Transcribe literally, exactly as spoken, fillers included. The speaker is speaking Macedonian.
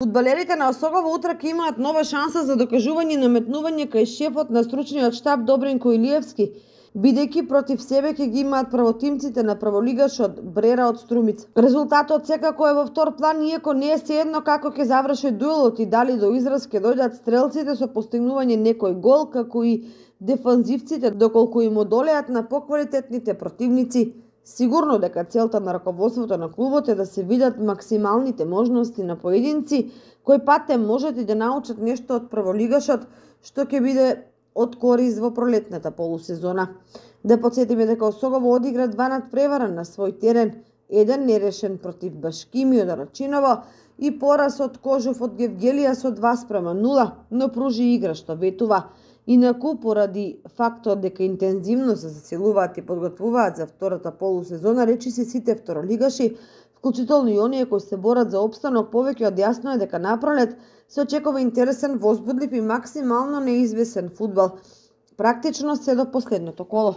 Фудбалерите на Осогово утре ќе имаат нова шанса за докажување и наметнување кај шефот на стручниот штаб Добринко Илиевски, бидејќи против себе ќе ги имаат правотимците на праволигашот Брера од Струмица. Резултатот секако е во втор план, иако не е сеедно како ќе заврши дуелот и дали до израз ќе дојдат стрелците со постигнување некој гол, како и дефанзивците доколку им одолеат на поквалитетните противници. Сигурно дека целта на раководството на клубот е да се видат максималните можности на поединци, кој пат те можат и да научат нешто од праволигашот, што ќе биде од корист во пролетната полусезона. Да подсетиме дека Осогово одигра два надпревара на свој терен, еден нерешен против Башкими од Рачиново и пораз од Кожов од Гевгелија со два спрема нула, но пружи игра што ветува. Инаку, поради фактот дека интензивно се засилуваат и подготвуваат за втората полусезона, речиси сите второлигаши, вклучително и оние кои се борат за опстанок, повеќе од јасно е дека напролет се очекува интересен, возбудлив и максимално неизвесен фудбал, практично се до последното коло.